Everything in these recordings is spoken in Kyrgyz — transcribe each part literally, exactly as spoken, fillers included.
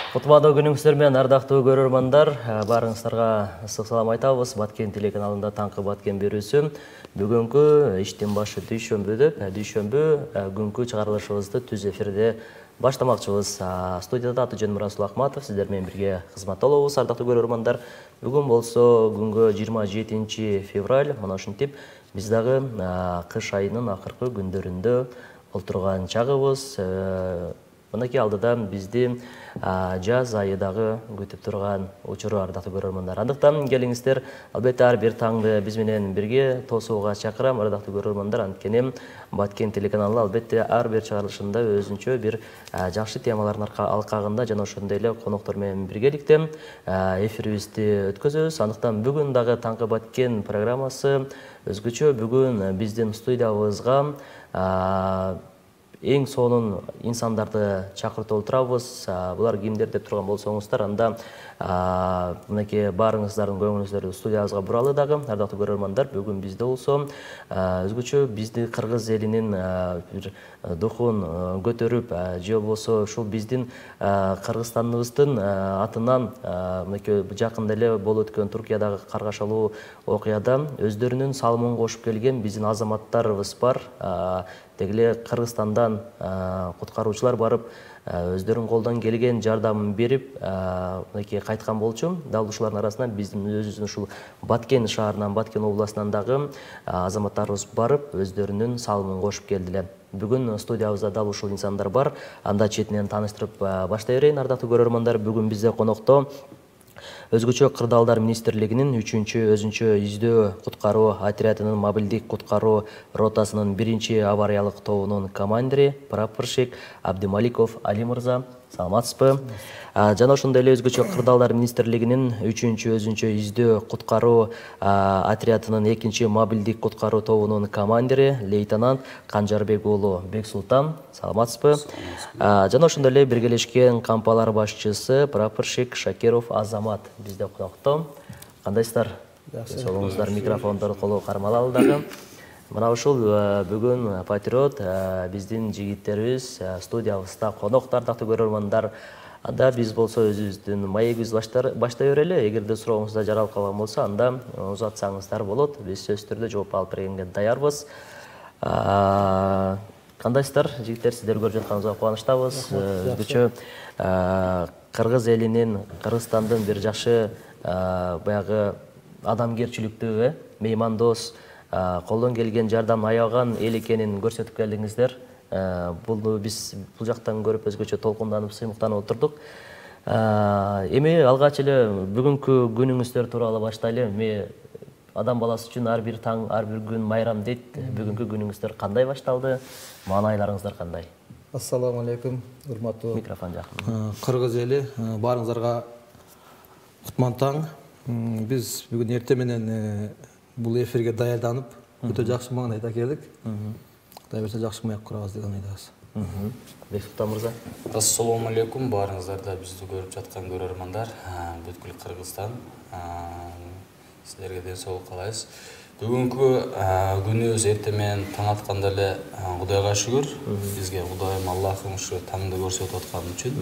Кутмандуу күнүңүздөр менен ардактуу көрөрмандар, баарыңыздарга ысык салам айтабыз. Баткен телеканалында таңкы Баткен берүүсү. Бүгүнкү иштин башы дүйшөмбүдө, дүйшөмбү күnkү чыгарылышыбызды түз эфирде баштамакчыбыз. Студияда Атыжан Расул Акматов сиздер менен бирге кызматта болобуз, ардактуу көрөрмандар. Бүгүн болсо күнгө жыйырма жетинчи февраль, мына ушинтип биз дагы кыш айынын акыркы күндөрүндө олтурган чагыбыз. Мынакей алдыда бизди жаз айы дагы күтүп турган учуру, ардактуу көрөрмандар. Андыктан келиңиздер, албетте ар бир таңды биз менен бирге тосууга чакырам, ардактуу көрөрмандар. Анткени Баткен телеканалы албетте ар бир чыгарылышында өзүнчө бир жакшы темалардын алкагында жана ошондой эле коноктор менен биргеликте эфирибизди өткөзөбүз. Андыктан бүгүн дагы таңкы Баткен программасы өзгөчө. Бүгүн биздин студиябызга эң сонун инсандарды чакыртып отурабыз. Булар кимдер деп турган болсоңуздар, анда мынакей баарыңыздардын көңүлүңүздөрдү студиябызга буралы дагы, ардактуу көрөрмандар. Бүгүн бизде болсо өзгөчө бизди кыргыз элинин бир духун көтөрүп, же болбосо ушул биздин Кыргызстаныбыздын атынан мынакей жакында эле болуп өткөн Туркиядагы каргашалуу окуяда өздөрүнүн салымын кошуп келген биздин азаматтарыбыз бар. Деги эле Кыргызстандан куткаруучулар барып, өздөрүнүн колдон келген жардамын берип, мынакей кайткан болчу. Дал ушулардын арасынан биздин өзүбүздүн ушул Баткен шаарынан, Баткен областынан дагы азаматтарыбыз барып, өздөрүнүн салымын кошуп келдилер. Бүгүн студиябызда дал ушул инсандар бар. Анда четинен тааныштырып баштай берейин, ардактуу көрөрмандар. Бүгүн бизде конокто Өзгөчө Кырдаалдар министрлигинин үчүнчү өзүнчө издөө куткаруу отрядынын мобилдик куткаруу ротасынын биринчи авариялык тобунун командири прапорщик Абдималиков Али мырза. Саламатсызбы? Жана ошондой эле өзгөчө Кырдаалдар министрлигинин үчүнчү өзүнчө издөө куткаруу отрядынын экинчи мобилдик куткаруу тобунун командири лейтенант Канжарбек уулу Бексултан. Саламатсызбы? Жана ошондой эле биргелешкен кампалар башчысы прапорщик Шакиров Азамат бизде конокто. Кандайсыздар? Солуңуздар, микрофондорду колго кармалалы дагы. Мына ушул бүгүн патриот биздин жигиттерибиз студиябызда конокто, ардактуу көрөрмандар. Анда биз болсо өзүбүздүн маегибизди баштай берели. Эгерде сурооңузда жаралып калган болсо, анда узатсаңыздар болот. Биз сөзсүз түрдө жооп алып бергенге даярбыз. Кандайсыздар, жигиттер, сиздер көрүп жатканыбызга кубанычтабыз. Өзгөчө Кыргыз элинин, Кыргызстандын бир жакшы баягы адамгерчиликтүү, меймандос, колдон келген жардам аябаган эл экенин көрсөтүп келдиңиздер. Бул биз бул жактан көрүп өзгөчө толкунданып, сыймыктанып отурдук. Эми алгач эле бүгүнкү күнүңүздөр тууралуу баштайлы. Эми адам баласы үчүн ар бир таң, ар бир күн майрам дейт. Бүгүнкү күнүңүздөр кандай башталды? Маанайларыңыздар кандай? Ассаламу алейкум, урматтуу микрофон жакын. Кыргыз эли, баарыңыздарга кутман таң. Биз бүгүн эртең менен бул эфирге даярданып, өтө жакшы маанайда келдик. Кудай берсе жакшы маек курабыз деген ойдобуз. Бексултан мырза. Ассаламу алейкум, баарыңыздарда бизди көрүп жаткан көрөрмандар, бүткүл Кыргызстан. Сиздерге ден соолук каалайбыз. Бүгүнкү күнүбүз эртең менен таң атканда эле Кудайга шүгүр, бизге Кудайым Аллахым ушу таңды көрсөтүп аткан үчүн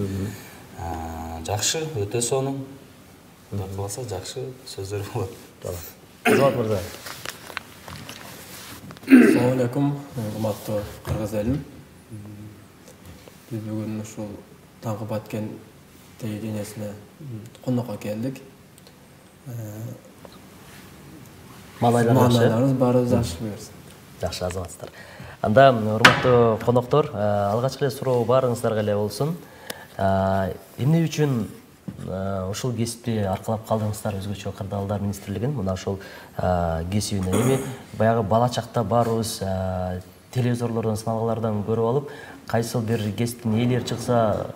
жакшы, өтө сонун. Кудай кааласа жакшы сөздөр болот. Азамат мырза. Ассаламу алейкум, урматтуу Кыргыз элим. Биз бүгүн ушул таңкы Баткен телевидениесине конокко келдик. Маанайларыбыз баарыбыз жакшы буюрса. Жакшы, азаматсыздар. Анда урматтуу коноктор, алгач эле суроо баарыңыздарга эле болсун. Эмне үчүн ушул кесипти аркылап калдыңыздар, өзгөчө Кырдаалдар министрлигин? Мына ушул кесибине эми баягы бала чакта баарыбыз телевизорлордон, сыналгалардан көрүп алып, кайсыл бир кесиптин ээлери чыкса,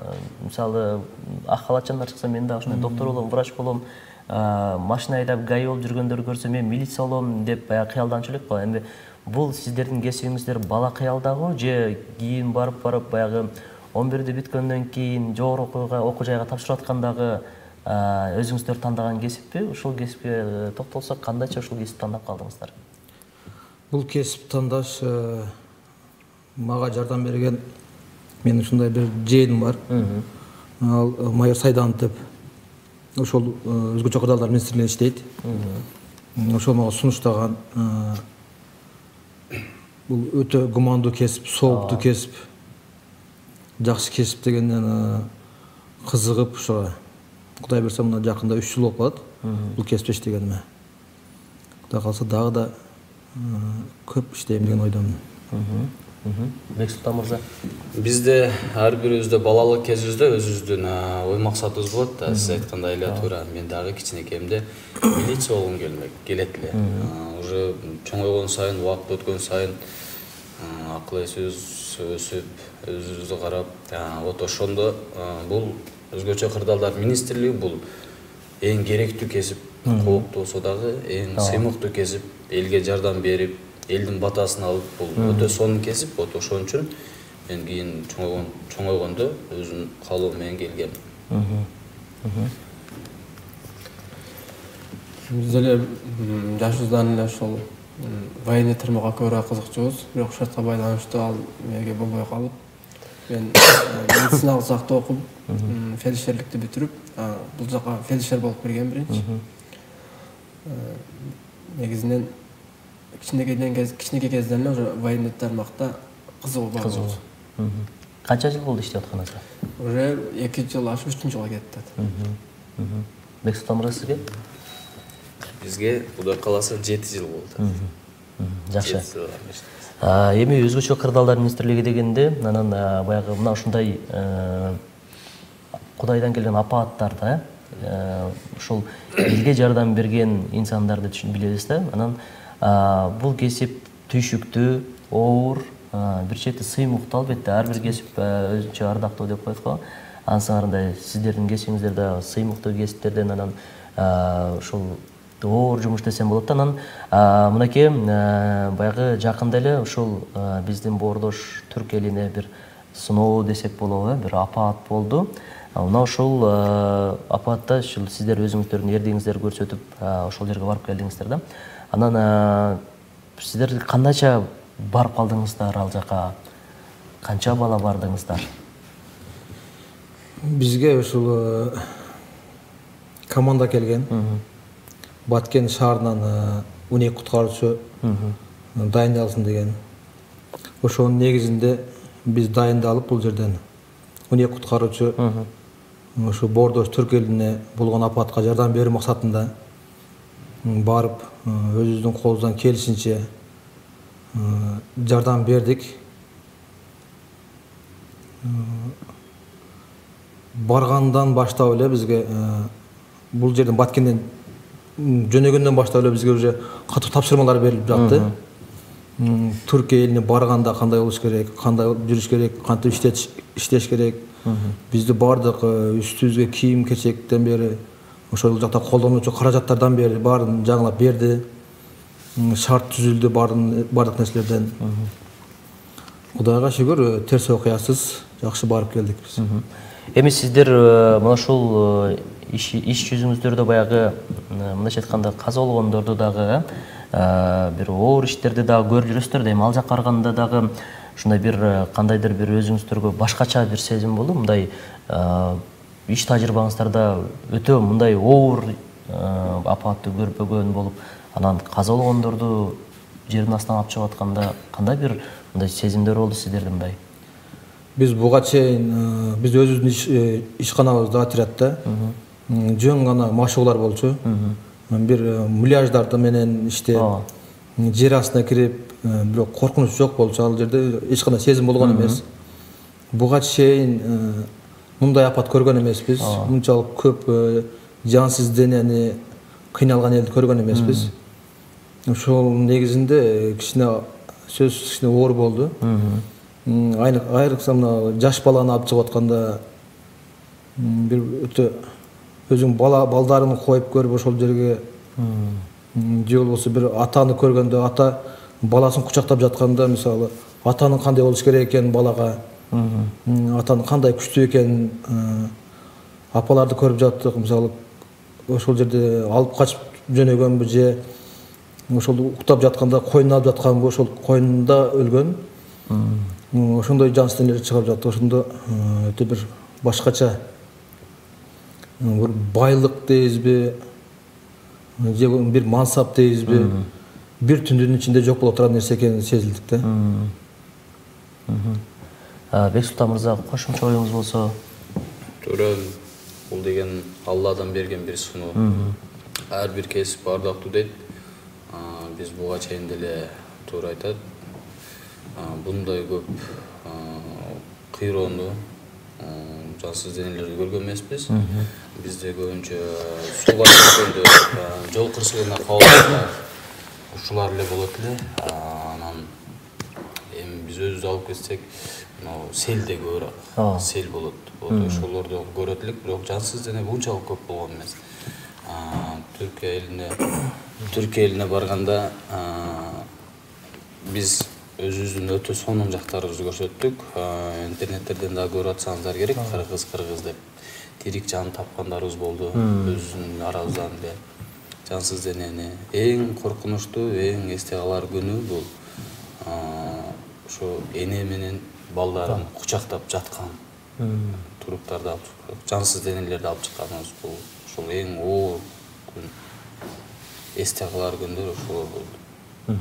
мисалы ак халатчандар чыкса, мен да ушундай доктор болом, врач болом, машина айдап гаи болуп жүргөндөрдү көрсөм, мен милиция болом деп баягы кыялданчу элек го. Эми бул сиздердин кесибиңиздер бала кыялдагы же кийин барып барып баягы он бирди бүткөндөн кийин жогорку окуу жайга тапшырып аткандагы өзүңүздөр тандаган кесиппи? Ушул кесипке токтолсок, кандайча ушул кесипти тандап калдыңыздар? Бул кесип тандаш мага жардам берген, менин ушундай бир жээним бар. ал майор Сайданов деп ошол өзгөчө кырдаалдар министрлигинде иштейт. Ошол мага сунуштаган бул өтө гумандуу кесип, сооптуу кесип, жакшы кесип дегенден кызыгып ошо Кудай берсе мына жакында үч жыл болуп калат бул кесипте иштегениме. Кудай калса дагы да көп иштейм деген ойдомун. Бексултан мырза, бизде ар бирибизде балалык кезибизде өзүбүздүн ой максатыбыз болот да. Сиз айткандай эле туура. Мен дагы кичинекейимде милиция болгум келмек келет эле. Уже чоңойгон сайын, убакыт өткөн сайын акыл эсибиз өсүп, өзүбүздү карап, вот ошондо бул өзгөчө кырдаалдар министрлиги бул эң керектүү кесип, кооптуу болсо дагы эң сыймыктуу кесип, элге жардам берип, элдин батасын алып, бул өтө сонун кесип. Вот ошон үчүн мен кийин чоңойгон чоңойгондо өзүм каалоо менен келгем. Биз деле жашыбыздан эле ошол военный тармакка көбүрөөк кызыкчубуз, бирок шартка байланыштуу ал меге болбой калып, мен медициналык жакта окуп, фельдшерликти бүтүрүп, бул жака фельдшер болуп кирген биринчи. Негизинен кичинекейден кез кичинекей кезден эле уже военный тармакта кызыгуу бар болду. Канча жыл болду иштеп атканыңызга? Уже эки жыл ашып үчүнчү жылга кетти. Бексултан мырза, сизге? Бизге Кудай кааласа жети жыл болду. Жакшы. Эми өзгөчө кырдаалдар министрлиги дегенде, анан баягы мына ушундай Кудайдан келген апааттарда ошол элге жардам берген инсандарды түшүнүп билебиз да. Анан бул кесип түйшүктүү, оор, бир чети сыймыктуу, албетте ар бир кесип өзүнчө ардактуу деп коет го. Ансыңарындай сиздердин кесибиңиздер да сыймыктуу кесиптерден, анан ошол оор жумуш десем болот да. Анан мынакей баягы жакында эле ушул биздин боордош түрк элине бир сыноо десек болобу, бир апаат болду. Мына ошол апаатта ушул сиздер өзүңүздөрдүн эрдигиңиздерди көрсөтүп ошол жерге барып келдиңиздер да. Анан сиздер кандайча барып калдыңыздар ал жака? Канча бала бардыңыздар? Бизге ушул команда келген. Баткен шаарынан он эки куткаруучу дайындалсын деген. Ошонун негизинде биз дайындалып бул жерден он эки куткаруучу ошо боордош түрк элине болгон апаатка жардам берүү максатында барып өзүбүздүн колубуздан келишинче жардам бердик. Баргандан баштап эле бизге бул жерден Баткенден жөнөгөндөн баштап эле бизге уже катуу тапшырмалар берилип жатты. Түркия элине барганда кандай болуш керек, кандай жүрүш керек, кантип иштеш иштеш керек. Бизди бардык үстүбүзгө кийим кечектен бери, ошол жакта колдонуучу каражаттардан бери баарын жаңылап берди. Шарт түзүлдү бардык нерселерден. Кудайга шүгүр, терс окуясыз жакшы барып келдик биз. Эми сиздер мына ушул иш жүзүңүздөрдө баягы мындайча айтканда каза болгондорду дагы бир оор иштерди дагы көрүп жүрөсүздөр да. Эми ал жакка барганда дагы ушундай бир кандайдыр бир өзүңүздөргө башкача бир сезим болду. Мындай иш тажрыйбаңыздарда өтө мындай оор апаатты көрбөгөн болуп, анан каза болгондорду жердин астынан алып чыгып атканда кандай бир мындай сезимдер болду сиздердин? Мындай биз буга чейин биз өзүбүздүн ишканабызда отрядда жөн гана машыгуулар болчу. Бир муляждарды менен иштеп, жер астына кирип, бирок коркунуч жок болчу. Ал жерде эч кандай сезим болгон эмес. Буга чейин мындай апат көргөн эмеспиз. Мынчалык көп жансыз денени, кыйналган элди көргөн эмеспиз. Ошол негизинде кичине сөз кичине оор болду. Айрыкса мына жаш баланы алып чыгып атканда бир өтө өзүң бала балдарын коюп көрүп ошол жерге, же болбосо бир атаны көргөндө, ата баласын кучактап жатканда, мисалы, атанын кандай болуш керек экенин балага, атанын кандай күчтүү экенин апаларды көрүп жаттык. Мисалы, ошол жерде алып качып жөнөгөнбү же ошол уктап жатканда койнуна алып жатканбы, ошол койнунда өлгөн. Ошондой жансыз денелер чыгып жатты. Ошондо өтө бир башкача бир байлык дейбизби же бир мансап дейбизби бир түндүн ичинде жок боло турган нерсе экени сезилдик да. Бексултан мырза, кошумча оюңуз болсо? Туура, бул деген Алладан берген бир суноо. Ар бир кесип бардактуу дейт. Биз буга чейин деле туура айтат. Bunday көп кыйроону, жансыз денелерди көргөн эмеспиз. Бизде көбүнчө сууга чыкканда, жол кырсыгына кабылганда ушулар эле болот эле. Анан эми биз өзүбүз алып кетсек, селде көбүрөөк сел болот. Ошолорду көрөт элек, бирок жансыз дене бунчалык көп болгон эмес. Түркия элине Түркия элине барганда биз өзүбүздүн өтө сонун жактарыбызды көрсөттүк. Интернеттерден да көрүп атсаңыздар керек, кыргыз кыргыз деп тирик жан тапкандарыбыз болду. Өзүбүздүн арабыздан эле жансыз денени эң коркунучтуу, эң эсте калар күнү бул ошо эне менен балдарын кучактап жаткан туруптарды алып чыккан, жансыз денелерди алып чыкканыбыз бул ошол эң оор күн. Эсте калар күндөр ошолор болду.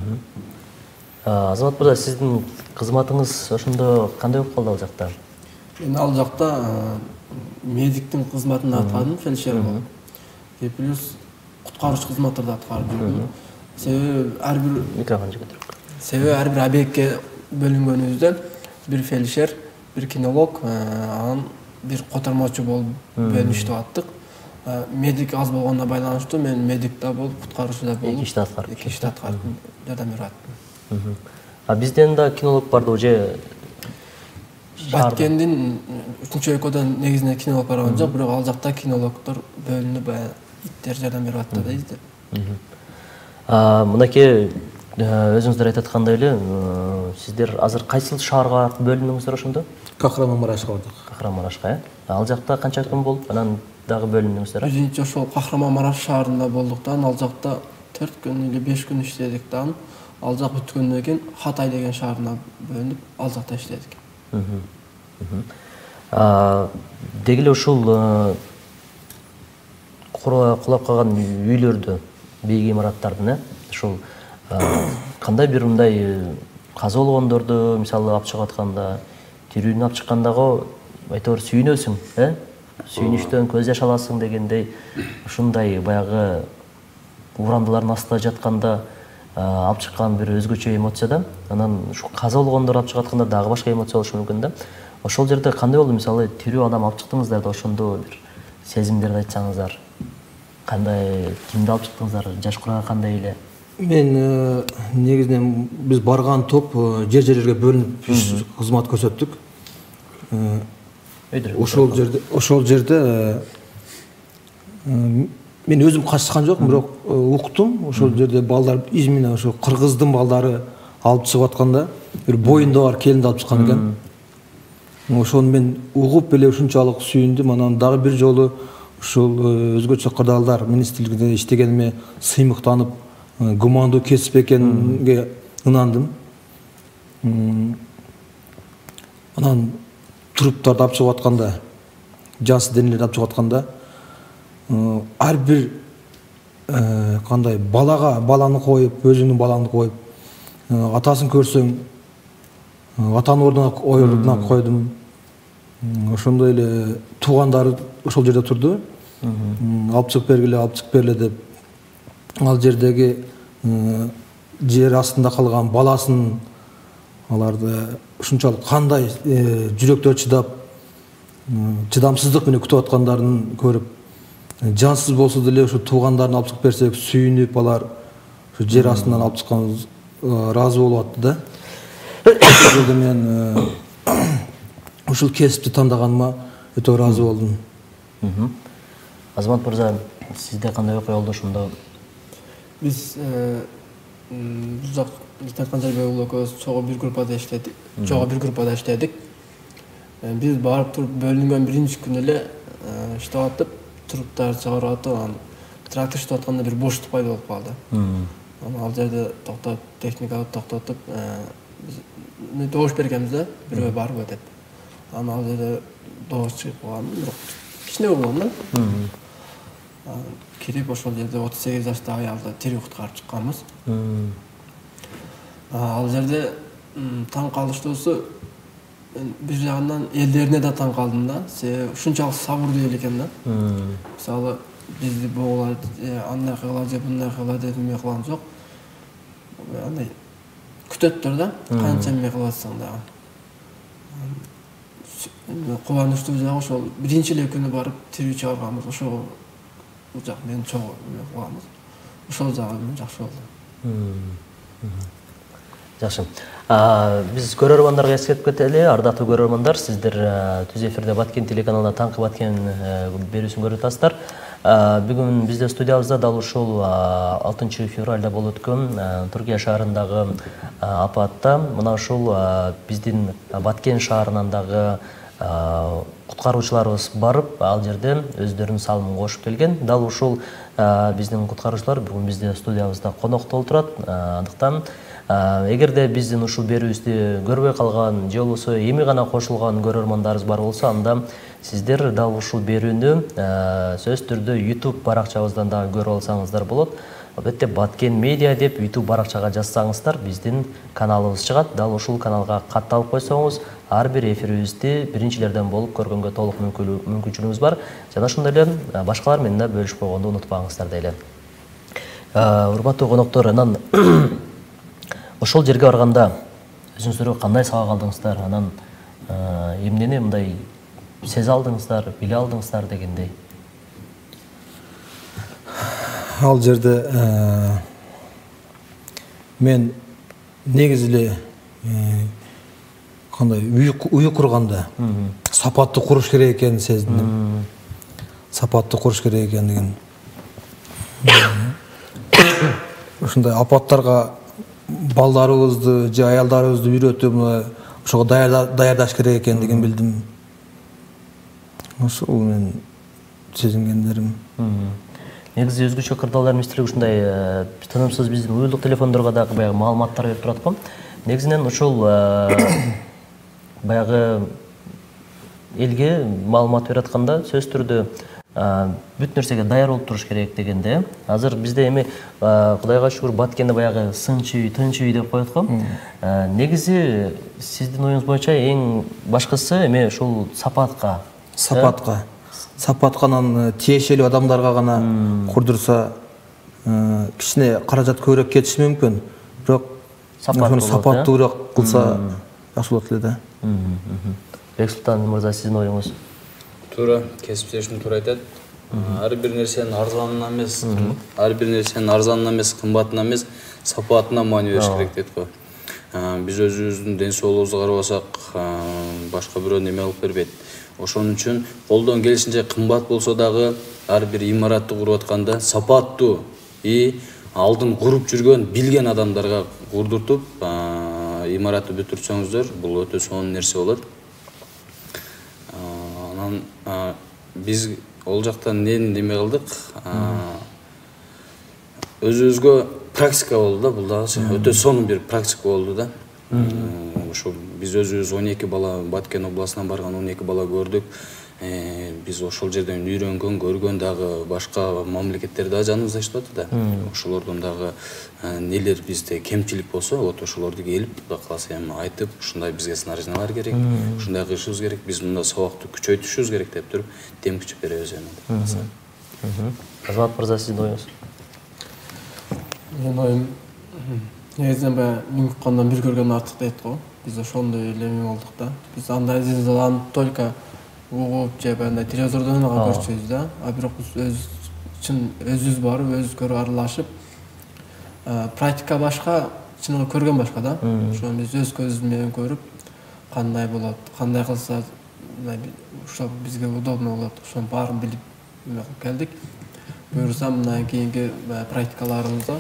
Азамат мырза, сиздин кызматыңыз ошондо кандай болуп калды ал жакта? Мен ал жакта медиктин кызматын аткардым, фельдшер болуп. И плюс куткаруучу кызматтарды аткарып жүрдүм. Себеби ар бир микрофон көтөрүп. Себеби ар бир объектке бөлүнгөнүбүздө бир фельдшер, бир кинолог, анан бир котормочу болуп бөлүнүп иштеп аттык. Медик аз болгонуна байланыштуу мен медик да болуп, куткаруучу да болуп, эки ишти аткарып, эки ишти аткарып жардам берип аттым. А бизден да кинолог барды же Баткендин үчүнчү өлкөдөн негизинен кинолог барган жок, бирок ал жакта кинологдор бөлүнүп, баягы иттер жардам берип атты да бизде. Мынакей өзүңүздөр айтып аткандай эле, сиздер азыр кайсыл шаарга бөлүндүңүздөр ошондо? Кахраманмарашка бардык. Кахраманмарашка, э? Ал жакта канча күн болуп, анан дагы бөлүндүңүздөр? Биринчи ошол Кахраманмараш шаарында болдуктан ал жакта төрт күн или беш күн иштедик да. Ал жак бүткөндөн кийин Хатай деген шаарына бөлүнүп, ал жакта иштедик. Деги эле ушул кулап калган үйлөрдү, бийик имараттардын, э, ушул кандай бир мындай каза болгондорду мисалы алып чыгып атканда, тирүүнү алып чыккандагы айтор сүйүнөсүң, э? Сүйүнүштөн көз жаш аласың дегендей, ушундай баягы урандылардын астында жатканда алып чыккан бир өзгөчө эмоция да. Анан ушу каза болгондор алып чыгып атканда дагы башка эмоция болушу мүмкүн да. Ошол жерде кандай болду? Мисалы тирүү адам алып чыктыңыздар да, ошондо бир сезимдерди айтсаңыздар. Кандай, кимди алып чыктыңыздар? Жаш курага кандай эле? Мен негизинен биз барган топ жер-жерлерге бөлүнүп кызмат көрсөттүк. Ошол жерде ошол жерде мен өзүм качкан жокмун, бирок уктум. Ошол жерде балдар измина ошо кыргыздын балдары алып чыгып атканда бир боюнда бар келинди алып чыккан экен. Ошону мен угуп эле ушунчалык сүйүндүм. Анан дагы бир жолу ушул өзгөчө кырдаалдар министрлигинде иштегениме сыймыктанып, гумандуу кесип экенге ынандым. Анан туруптарды алып чыгып атканда, жансыз денелерди алып чыгып атканда, ар бир кандай балага баланы коюп, өзүңдүн балаңды коюп, атасын көрсөң, атанын ордуна койдум. Ошондой эле туугандары ошол жерде турду. Алып чыгып бергиле, алып чыгып берле деп. Ал жердеги жер астында калган баласын аларды ушунчалык кандай жүрөктөр чыдап, чыдамсыздык менен күтүп аткандарын көрүп, жансыз болсо деле ушу туугандарын алып чыгып берсек сүйүнүп, алар ушу жер астынан алып чыккан ыраазы болуп атты да. Ошол мен ушул кесипти тандаганыма өтө ыраазы болдум. Азамат мырза, сизде кандай окуя болду ошондо? Биз бул жак Лейтенант Канжарбек уулу экөөбүз чогуу бир группада иштедик. Чогуу бир группада иштедик. Биз барып туруп бөлүнгөн биринчи күнү эле иштеп атып, туруптарды чыгарып атып, анан трактор иштеп атканда бир боштук пайда болуп калды. Анан ал жерде токтоп, техниканы токтотуп, биз добуш бергенбиз да, бирөө барбы деп. Анан ал жерде добуш чыгып калган, бирок кичине болгондон кирип ошол жерде отуз сегиз жаштагы аялды тирүү куткарып чыкканбыз. Ал жерде таң калыштуусу бир жагынан элдерине да таң калдым да. Себеби ушунчалык сабырдуу эл экен да. Мисалы бизди боголар, андай кылгыла же мындай кылгыла деп эме кылган жок. Андай күтөттөр да, канча эме кылып атсаң дагы. Кубанычтуу жагы ошол биринчи эле күнү барып тирүү чыгарганбыз. Ошол жак мен чогуу эме кылганбыз. Ошол жагы жакшы болду. Жакшы. Биз көрөрмандарга эскертип кетели. Ардактуу көрөрмандар, сиздер Түз эфирде Баткен телеканалында таңкы Баткен берүүсүн көрүп атасыздар. Бүгүн бизде студиябызда дал ушул алтынчы февралда болуп өткөн Түркия шаарындагы апатта мына ушул биздин Баткен шаарынан дагы куткаруучуларыбыз барып, ал жерде өздөрүнүн салымын кошуп келген. Дал ушул биздин куткаруучулар бүгүн бизде студиябызда конокто отурат. Андыктан эгерде биздин ушул берүүбүздү көрбөй калган же болбосо эми гана кошулган көрөрмандарыбыз бар болсо, анда сиздер дал ушул берүүнү сөзсүз түрдө YouTube баракчабыздан дагы көрүп алсаңыздар болот. Албетте Баткен медиа деп YouTube баракчага жазсаңыздар, биздин каналыбыз чыгат. Дал ушул каналга катталып койсоңуз, ар бир эфирибизди биринчилерден болуп көргөнгө толук мүмкүнчүлүгүңүз бар. Жана ошондой эле башкалар менен да бөлүшүп койгонду унутпаңыздар дейли. Урматтуу коноктор, анан ошол жерге барганда өзүңүздөр кандай сабак алдыңыздар? Анан эмнени мындай сезе алдыңыздар, биле алдыңыздар дегендей? Ал жерде мен негизи эле кандай үй курганда сапаттуу куруш керек экенин сездим. Сапаттуу куруш керек экендигин. Ушундай апаттарга балдарыбызды же аялдарыбызды үйрөтүп, ошого даярдаш керек экендигин билдим. Ошол мен сезингендерим. Негизи өзгөчө кырдаалдар министрлиги ушундай тынымсыз биздин уюлдук телефондорго дагы баягы маалыматтар берип турат го. Негизинен ушул баягы элге маалымат берип атканда сөзсүз түрдө бүт нерсеге даяр болуп туруш керек дегенде. Азыр бизде эми Кудайга шүгүр Баткенде баягы сынчы үй, тынч үй деп коет го. Негизи сиздин оюңуз боюнча эң башкысы эми ушул сапатка, сапатка сапатканан тиешелүү адамдарга гана курдурса кичине каражат көбүрөөк кетиши мүмкүн. Бирок сапаттуураак кылса жакшы болот эле да. Бексултан мырза, сиздин оюңуз? Туура, кесиптешим туура айтат. Ар бир нерсенин арзанына эмес, ар бир нерсенин арзанына эмес, кымбатына эмес, сапатына маани бериш керек дейт го. Биз өзүбүздүн ден соолугубузду карабасак, башка бирөө неме алып бербейт. Ошон үчүн колдон келишинче кымбат болсо дагы ар бир имаратты куруп атканда сапаттуу и алдын куруп жүргөн, билген адамдарга курдуртуп, имаратты бүтүрсөңүздөр, бул өтө сонун нерсе болот. Анан биз ол жактан эмне неме кылдык? Өзүбүзгө практика болду да, бул дагы өтө сонун бир практика болду да. Ошо биз өзүбүз он эки бала Баткен областынан барган он эки бала көрдүк. Биз ошол жерден үйрөнгөн, көргөн дагы башка мамлекеттер дагы жаныбызда иштеп атат да. Ошолордон дагы нелер бизде кемчилик болсо, вот ошолорду келип, Кудай кааласа эми айтып, ушундай бизге снарядиялар керек, ушундай кылышыбыз керек, биз мында сабакты күчөйтүшүбүз керек деп туруп, дем күчүп беребиз эми. Азамат мырза, сиздин оюңуз? Менин оюм негизинен баягы миң уккандан бир көргөн артык дейт го. Биз ошондой эле эме болдук да. Биз андай зилзаланы только угуп же андай телевизордон гана көрчүбүз да. А бирок биз өз чын өзүбүз барып, өзүбүз көрүп аралашып, практика башка, чыныгы көргөн башка да. Ошону биз өз көзүбүз менен көрүп, кандай болот, кандай кылса ошо бизге удобно болот, ошонун баарын билип эме кылып келдик. Буюрса мындан кийинки практикаларыбызда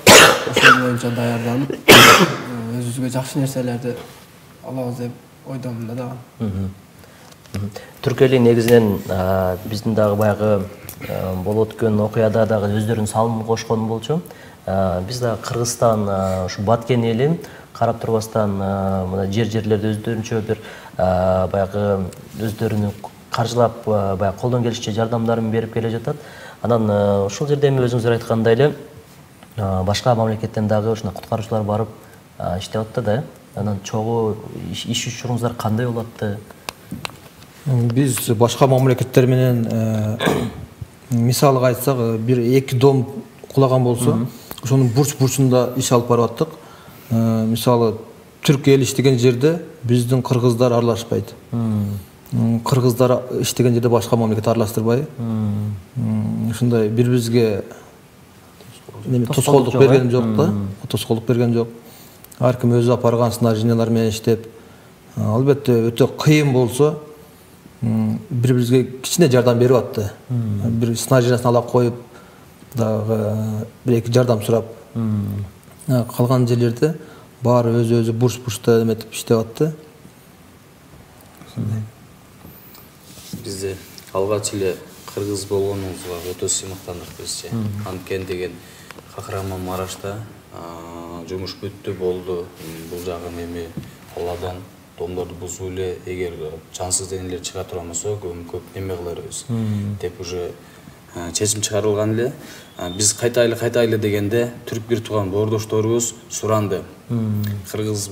ошол боюнча даярданып, өзүбүзгө жакшы нерселерди алабыз деп ойдомун да дагы. Түркия негизинен биздин дагы баягы болуп өткөн окуяда дагы өздөрүнүн салымын кошкон болчу. Биз дагы Кыргызстан, ушу Баткен элин карап турбастан мына жер-жерлерде өздөрүнчө бир баягы өздөрүнүн каржылап баягы колдон келишинче жардамдарын берип келе жатат. Анан ушул жерде эми өзүңүздөр айткандай эле башка мамлекеттен дагы ушундай куткаруучулар барып иштеп атты да. Анан чогуу иш учуруңуздар кандай болуп атты? Биз башка мамлекеттер менен мисалга айтсак, бир эки дом кулаган болсо, ошонун бурч-бурчунда иш алып барып аттык. Мисалы, түрк эл иштеген жерде биздин кыргыздар аралашпайт. Кыргыздар иштеген жерде башка мамлекет аралаштырбай. Ушундай бири-бирибизге тоскоолдук берген жок да, тоскоолдук берген жок. Ар ким өзү апарган снаряжениялар менен иштеп, албетте өтө кыйын болсо, бири-бирибизге кичине жардам берип атты. Бир снаряжениясын ала коюп, дагы бир-эки жардам сурап. Калган жерлерде баары өзү-өзү бурч-бурчта эметип иштеп атты. Бизде алгач эле кыргыз болгонубузга өтө сыймыктандык бизче. Анткени деген Кахраман-Марашта жумуш бүттү болду. Бул жагы эми Алладан домдорду бузуу эле, эгер жансыз денелер чыга турган болсо, көп эме кыларбыз деп уже чечим чыгарылган эле. Биз кайтайлы кайтайлы дегенде түрк бир тууган боордошторубуз суранды. Кыргыз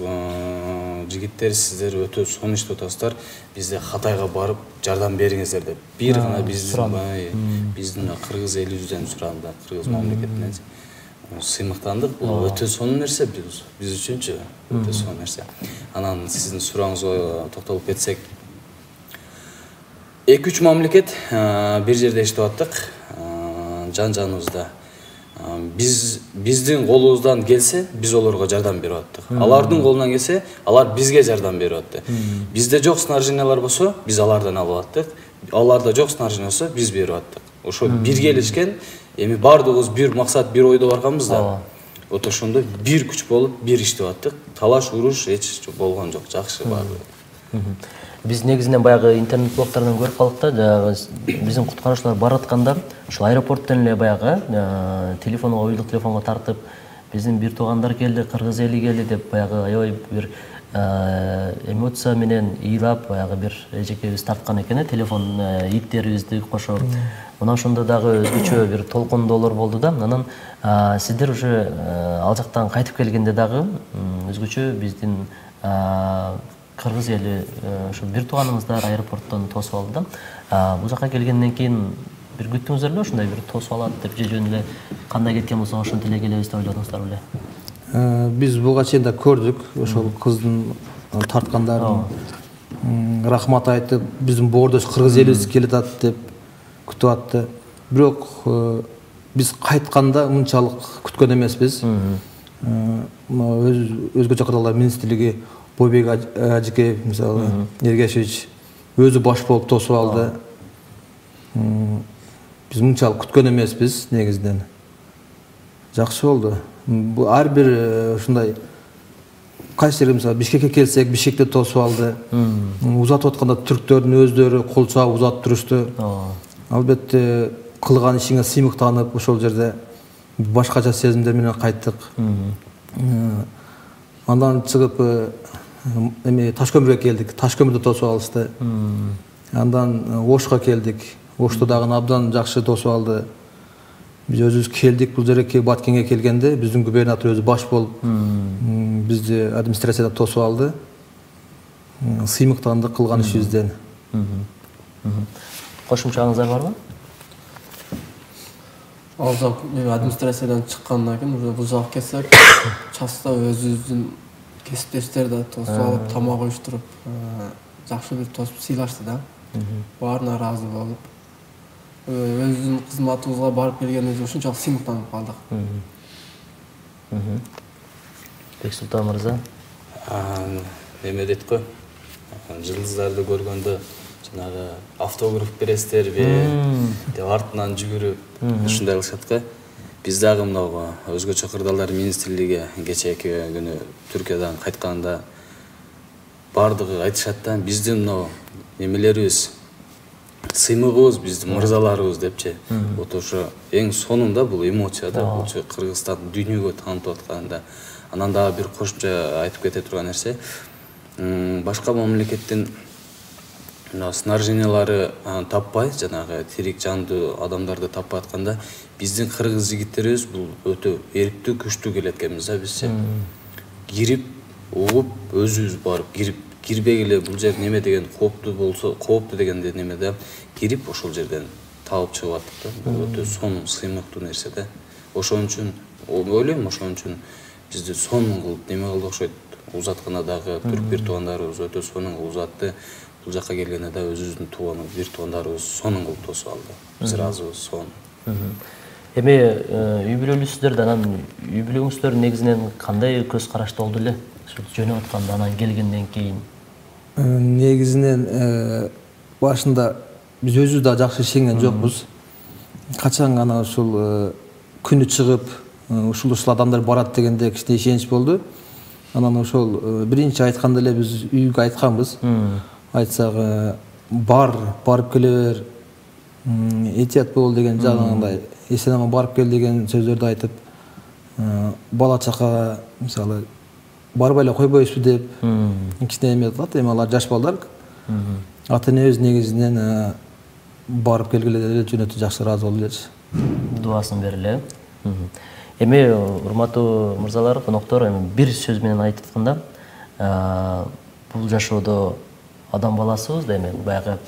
жигиттер, сиздер өтө сонун иштеп атасыздар, бизде Катайга барып жардам бериңиздер деп. Бир гана биздин биздин кыргыз элибизден суранды, кыргыз мамлекетинен. Сыймыктандык, бул өтө сонун нерсе биз биз үчүнчү, өтө сонун нерсе. Анан сиздин сурооңузга токтолуп кетсек, эки үч мамлекет бир жерде иштеп аттык, жан-жаныбызда. Биз биздин колубуздан келсе, биз олорго жардам берип аттык. Алардын колунан келсе, алар бизге жардам берип атты. Бизде жок снаряжениялар болсо, биз алардан алып аттык. Аларда жок снаряжения болсо, биз берип аттык. Ошо биргелешкен, эми бардыгыбыз бир максат, бир ойдо барганбыз да. Вот ошондо бир күч болуп, бир иштеп аттык. Талаш, уруш эч болгон жок, жакшы бардыгы. Биз негизинен баягы интернет блогтордон көрүп калдык да, биздин куткаруучулар баратканда ушул аэропорттон эле баягы телефонго, уюлдук телефонго тартып, биздин бир туугандар келди, кыргыз эли келди деп баягы аябай бир эмоция менен ыйлап, баягы бир эжекебиз тарткан экен, телефон иптерибизди кошоп. Мына ошондо дагы өзгөчө бир толкундоолор болду да. Анан сиздер уже ал жактан кайтып келгенде дагы өзгөчө биздин кыргыз эли ошо бир тууганыңыздар аэропорттон тосуп алды да. Бул жака келгенден кийин бир күттүңүздөр беле ушундай бир тосуп алат деп, же жөн эле кандай кеткен болсо ошентип эле келебиз деп ойладыңыздар беле? Биз буга чейин да көрдүк, ошол кыздын тарткандарын рахмат айтып, биздин боордош кыргыз элибиз келе атат деп күтүп атты. Бирок биз кайтканда мынчалык күткөн эмеспиз. Өзгөчө кырдаалдар министрлиги Бойбек Ажикеев, мисалы, Ергешевич өзү баш болуп тосуп алды. Биз мынчалык күткөн эмеспиз негизинен. Жакшы болду. Бул ар бир ушундай кайсы жерге, мисалы, Бишкекке келсек, Бишкекте тосуп алды. Узатып атканда түрктөрдүн өздөрү кол чаап узатып турушту. Албетте кылган ишиңе сыймыктанып, ошол жерде башкача сезимдер менен кайттык. Андан чыгып эми Ташкөмүргө келдик. Ташкөмүрдө тосуп алышты. Андан Ошко келдик. Ошто дагы абдан жакшы тосуп алды. Биз өзүбүз келдик, бул жерге Баткенге келгенде биздин губернатор өзү баш болуп бизди администрацияда тосуп алды. Сыймыктандык кылган ишибизден. Кошумчаңыздар барбы? Ал жак администрациядан чыккандан кийин уже бул жак келсек, часто өзүбүздүн кесиптештер да тосуп алып, тамак уюштуруп, жакшы бир тосуп сыйлашты да. Баарына ыраазы болуп, өзүбүздүн кызматыбызга барып келгенибизге ушунчалык сыймыктанып калдык. Бексултан мырза, эме дейт го, жылдыздарды көргөндө жанагы автограф бересиздерби деп артынан жүгүрүп ушундай кылышат го. Биз дагы мына өзгөчө кырдаалдар министрлиги кечээки күнү Түркиядан кайтканда бардыгы айтышат да, биздин мына немелерибиз, сыймыгыбыз, биздин мырзаларыбыз депчи. Вот ошо эң сонунда бул эмоция да, бул Кыргызстан дүйнөгө таанытып атканда. Анан дагы бир кошумча айтып кете турган нерсе, башка мамлекеттин мына снаряжениялары таппай, жанагы тирик жандуу адамдарды таппай атканда биздин кыргыз жигиттерибиз бул өтө эриктүү, күчтүү келет экенбиз да бизче. Кирип, угуп, өзүбүз барып кирип, кирбегиле бул жер неме деген кооптуу болсо, кооптуу дегенде неме да кирип ошол жерден табып чыгып аттык да. Бул өтө сонун, сыймыктуу нерсе да. Ошон үчүн ойлойм, ошон үчүн бизди сонун кылып неме кылды окшойт. Узатканадагы түрк бир туугандарыбыз өтө сонун кылып узатты. Бул жака келгенде да өзүбүздүн тууган бир туугандарыбыз сонун кылып тосуп алды. Биз ыраазыбыз сонун. Эми үй бүлөлүүсүздөр да, анан үй бүлөңүздөр негизинен кандай көз карашта болду эле? Жөнөп атканда анан келгенден кийин. Негизинен башында биз өзүбүз да жакшы ишенген жокпуз. Качан гана ушул күнү чыгып, ушул ушул адамдар барат дегенде кичине ишенич болду. Анан ошол биринчи айтканда эле биз үйгө айтканбыз. Айтсак, бар, барып келе бер, этият бол деген жагындай, эсен аман барып кел деген сөздөрдү айтып, бала чакага мисалы барбай эле койбойсузбу деп кичине эме кылат. Эми алар жаш балдар. Ата энебиз негизинен барып келгиле деп жөнөтө жакшы ыраазы болду элечи. Дубасын бериле. Эми урматтуу мырзалар, коноктор, эми бир сөз менен айтып атканда, бул жашоодо адам баласыбыз да, эми баягы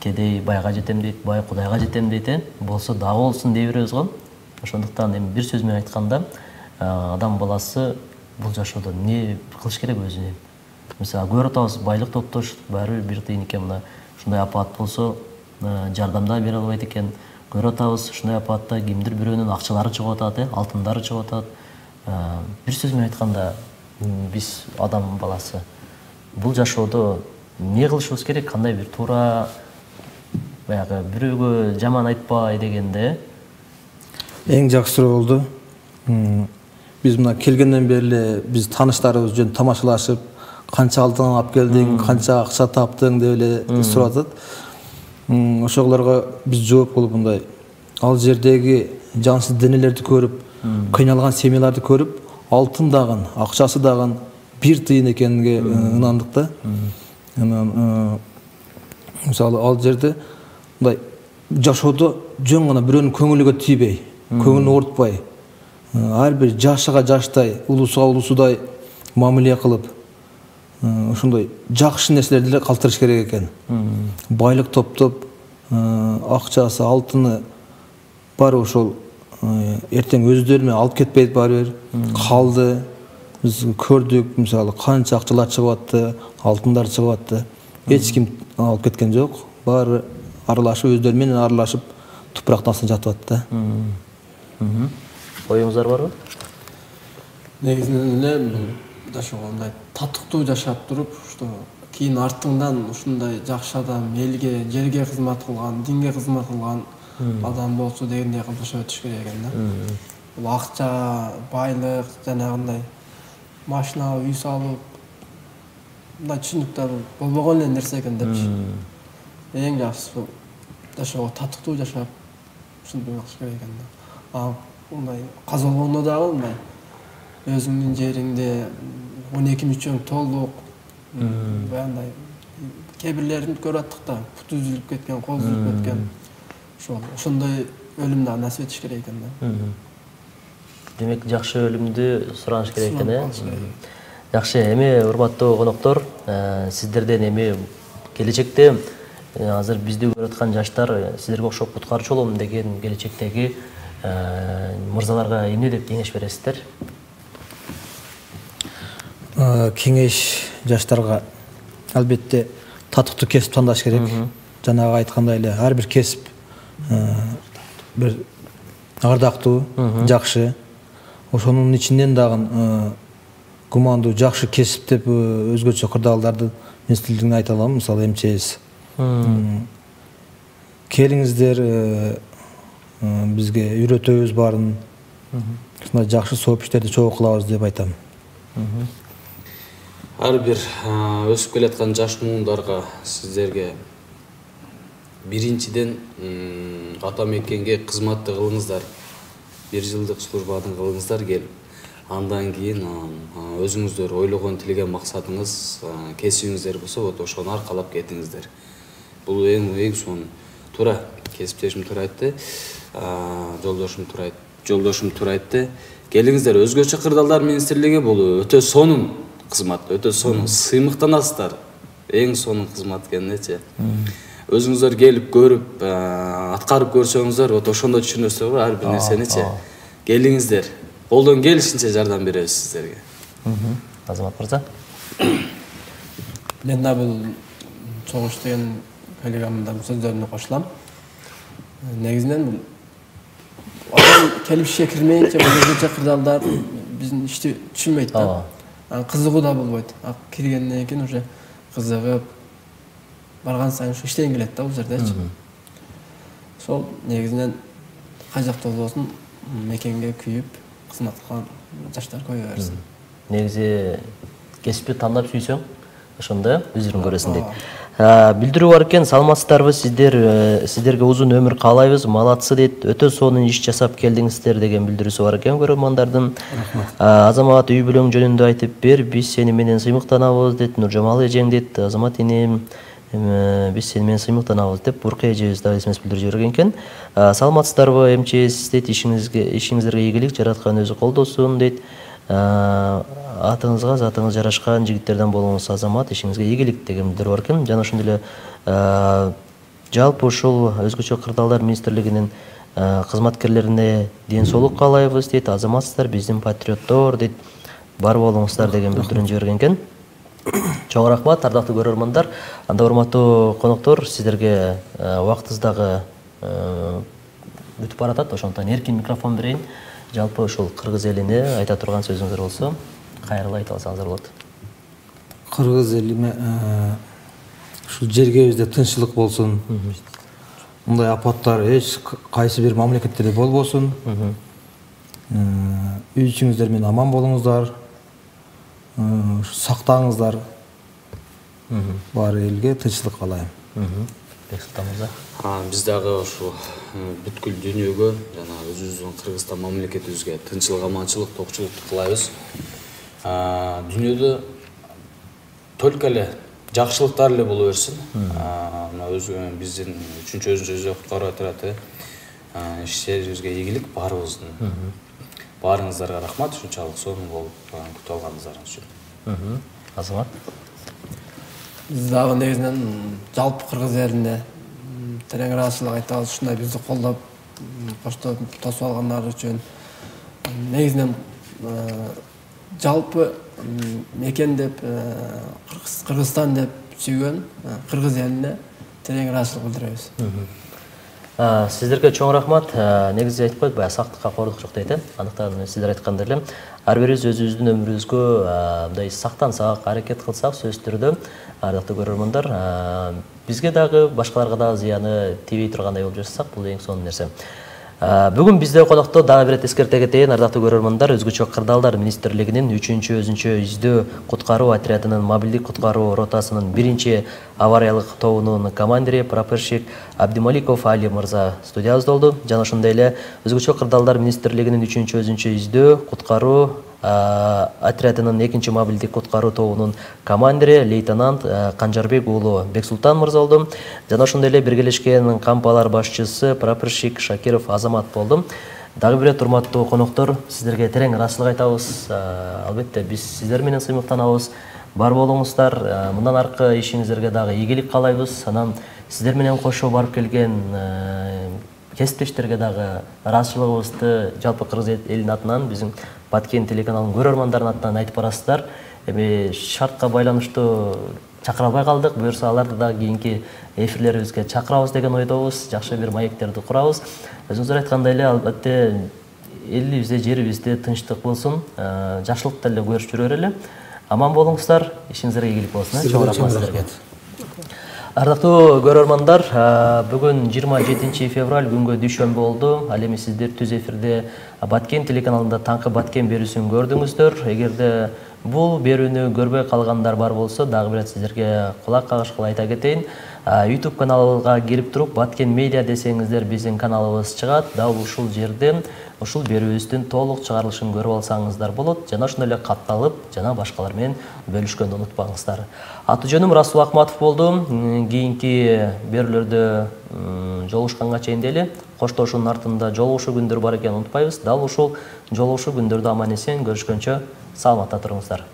кедей байга жетем дейт, бай Кудайга жетем дейт, э? Болсо да болсун дей беребиз го. Ошондуктан эми бир сөз менен айтканда, адам баласы бул жашоодо эмне кылыш керек өзүнө? Мисалы, көрүп атабыз, байлык топтош баары бир тыйын экен, мына ушундай апаат болсо, жардамда бере албайт экен. Көрүп атабыз, ушундай апаатта кимдир бирөөнүн акчалары чыгып атат, э, алтындары чыгып атат. Бир сөз менен айтканда, биз адам баласы бул жашоодо эмне кылышыбыз керек? Кандай бир туура, баягы бирөөгө жаман айтпай дегенде? Эң жакшы суроо болду. Биз мына келгенден бери эле биз тааныштарыбыз жөн тамашалашып, канча алтын алып келдиң, канча акча таптың деп эле сурап атат. Ошолорго биз жооп кылып мындай, ал жердеги жансыз денелерди көрүп, кыйналган семьяларды көрүп, алтын дагы, акчасы дагы бир тыйын экениге ынандык да. Анан мисалы ал жерде мындай жашоодо жөн гана бирөөнүн көңүлүгө тийбей, көңүлүн оорутпай, ар бир жашыга жаштай, улусуга улусудай мамиле кылып, ошондой жакшы нерселерди эле калтырыш керек экен. Байлык топтоп, акчасы, алтыны бар ошол эртең өздөрү менен алып кетпейт баары бир калды. Биз көрдүк, мисалы, канча акчалар чыгып атты, алтындар чыгып атты. Эч ким алып кеткен жок. Баары аралашып, өздөрү менен аралашып, тупурактын астында жатып атты да. Оюңуздар барбы? Негизинен эле жашоого мындай татыктуу жашап туруп, что кийин артыңдан ушундай жакшы адам, элге, жерге кызмат кылган, динге кызмат кылган адам болсо дегендей кылып жашап өтүш керек экен да. Бул акча, байлык, жанагындай машина, үй салып, мындай түшүнүктөр болбогон эле нерсе экен депчи. Эң жакшысы жашоого татыктуу жашап, ушинтип кылыш керек экен да. А мындай каза болгондо дагы мындай өзүңдүн жериңде он эки мүчөң толук, баягындай кээ бирлерин көрүп аттык да, буту үзүлүп кеткен, кол үзүлүп кеткен. Ошол ошондой өлүм дагы насип этиш керек экен да. Демек, жакшы өлүмдү сураныш керек экен, э? Жакшы, эми урматтуу коноктор, сиздерден эми келечекте азыр бизди көрүп аткан жаштар сиздерге окшоп куткарчу болом деген келечектеги мырзаларга эмне деп кеңеш бересиздер? Кеңеш жаштарга албетте татыктуу кесип тандаш керек. Жанагы айткандай эле ар бир кесип бир ардактуу, жакшы. Ошонун ичинен дагы гумандуу, жакшы кесип деп өзгөчө кырдаалдарды мен сиздерге айта алам. Мисалы, эм че эс. Келиңиздер, бизге үйрөтөбүз баарын. Ушундай жакшы сообществолорду чогуу кылабыз деп айтам. Ар бир өсүп келаткан жаш муундарга сиздерге биринчиден ата мекенге кызматты кылыңыздар. Бир жылдык службаны кылыңыздар келип. Андан кийин өзүңүздөр ойлогон, тилеген максатыңыз, кесибиңиздер болсо, вот ошону аркалап кетиңиздер. бул эң эң сонун. Туура кесиптешим туура айтты. Жолдошум туура айтты. Жолдошум туура айтты. Келиңиздер, өзгөчө кырдаалдар министрлиги бул өтө сонун кызмат, өтө сонун, сыймыктанасыздар. Эң сонун кызмат экеничи. Өзүңүздөр келип көрүп, аткарып көрсөңүздөр, вот ошондо түшүнөсүздөр го ар бир нерсеничи. Келиңиздер, колдон келишинче жардам беребиз сиздерге. Азамат мырза. Мен да бул чогуш деген коллегамдын сөздөрүнө кошулам. Негизинен бул адам келип ишке кирмейинче бул өзгөчө кырдаалдар биздин ишти түшүнбөйт да. Кызыгуу да болбойт. Киргенден кийин уже кызыгып барган сайын ушу иштеген келет да бул жердечи. Сол негизинен кай жакта болбосун мекенге күйүп кызмат кылган жаштар көбөйө берсин. Негизи кесипти тандап сүйсөң, ошондо өзүрүң көрөсүң дейт. Билдирүү бар экен, саламатсыздарбы, сиздер сиздерге узун өмүр каалайбыз, малатсы дейт. Өтө сонун иш жасап келдиңиздер деген билдирүүсү бар экен көрөрмандардын. Азамат үй бүлөң жөнүндө айтып бер, биз сени менен сыймыктанабыз дейт. Нуржамал эжең дейт, Азамат энем, биз сени менен сыймыктанабыз деп Буркай эжебиз да эсмес билдирип жиберген экен. Саламатсыздарбы, МЧС дейт, ишиңизге ишиңиздерге ийгилик, жараткан өзү колдосун дейт. Атыңызга затыңыз жарашкан жигиттерден болуңуз, Азамат, ишиңизге ийгилик деген билдирүү бар экен. Жана ошондой эле жалпы ушул өзгөчө кырдаалдар министрлигинин кызматкерлерине ден соолук каалайбыз дейт. Азаматсыздар, биздин патриоттор дейт. Бар болуңуздар деген билдирүүнү жиберген экен. Чоң рахмат, ардактуу көрөрмандар. Анда урматтуу коноктор, сиздерге убактыбыздагы бүтүп баратат. Ошондуктан эркин микрофон берейин. Жалпы ушул кыргыз элине айта турган сөзүңүздөр болсо, кайрылып айта алсаңыздар болот. Кыргыз элиме ушул жергебизде тынччылык болсун. Мындай апаттар эч кайсы бир мамлекеттерде болбосун. Үй ичиңиздер менен аман болуңуздар. Сактаңыздар. Бар элге тынччылык каалайм. Бексултан мырза. Биз дагы ошо бүткүл дүйнөгө жана өзүбүздүн Кыргызстан мамлекетибизге тынччылык, аманчылык, токчулукту каалайбыз. Дүйнөдө только эле жакшылыктар эле боло берсин. Мына өзү биздин үчүнчү өзүнчө өзү куткарып атат. Иштерибизге ийгилик баарыбыздын. Баарыңыздарга рахмат, ушунчалык сонун болуп күтүп алганыңыздар үчүн. Азамат. Биз дагы негизинен жалпы кыргыз элине терең ыраазычылык айтабыз, ушундай бизди колдоп, коштоп, тосуп алгандар үчүн. Негизинен жалпы мекен деп, Кыргызстан деп сүйгөн кыргыз элине терең ыраазычылык билдиребиз. Сиздерге чоң рахмат. Негизи айтып коет, баягы сактыкка кордук жок дейт. Андыктан сиздер айткандай эле ар бирибиз өзүбүздүн өмүрүбүзгө мындай сактансак, аракет кылсак, сөзсүз түрдө ардактуу көрөрмандар, бизге дагы башкаларга дагы зыяны тийбей тургандай болуп жашасак, бул эң сонун нерсе. Бүгүн бизде конокто дагы бир эскерте кетейин, ардактуу көрөрмандар, өзгөчө кырдаалдар министрлигинин үчүнчү өзүнчө издөө куткаруу отрядынын мобилдик куткаруу ротасынын биринчи авариялык тобунун командири прапорщик Абдималиков Али мырза студиябызда болду. Жана ошондой эле өзгөчө кырдаалдар министрлигинин үчүнчү өзүнчө издөө куткаруу отрядынын экинчи мобилдик куткаруу тобунун командири лейтенант Канжарбек уулу Бексултан мырза болду. Жана ошондой эле биргелешкен кампалар башчысы прапорщик Шакиров Азамат болду. Дагы бир рет урматтуу коноктор, сиздерге терең ыраазычылык айтабыз. Албетте биз сиздер менен сыймыктанабыз. Бар болуңуздар. Мындан аркы ишиңиздерге дагы ийгилик каалайбыз. Анан сиздер менен кошо барып келген кесиптештерге дагы ыраазычылыгыбызды жалпы кыргыз элинин атынан, биздин Баткен телеканалынын көрөрмандарынын атынан айтып барасыздар. Эми шартка байланыштуу чакыра албай калдык. Буюрса аларды дагы кийинки эфирлерибизге чакырабыз деген ойдобуз. Жакшы бир маектерди курабыз. Өзүңүздөр айткандай эле, албетте элибизде, жерибизде тынчтык болсун, жакшылыкты эле көрүп жүрө берели. Аман болуңуздар, ишиңиздерге ийгилик болсун. Чоң рахмат сиздерге. Ардактуу көрөрмандар, бүгүн жыйырма жетинчи февраль күнгө дүйшөмбү болду. Ал эми сиздер түз эфирде Баткен телеканалында таңкы Баткен берүүсүн көрдүңүздөр. Эгерде бул берүүнү көрбөй калгандар бар болсо, дагы бир сиздерге кулак кагышкыла айта кетейин. YouTube каналга кирип туруп Баткен медиа десеңиздер биздин каналыбыз чыгат. Дал ушул жерде ушул берүүбүздүн толук чыгарылышын көрүп алсаңыздар болот. Жана ошондой эле катталып, жана башкалар менен бөлүшкөндү унутпаңыздар. Аты жөнүм Расул Акматов болду. Кийинки берүүлөрдө жолугушканга чейин дели коштошуунун артында жолугушуу күндөр бар экенин унутпайбыз. Дал ушул жолугушуу күндөрдө аман эсен көрүшкөнчө саламатта туруңуздар.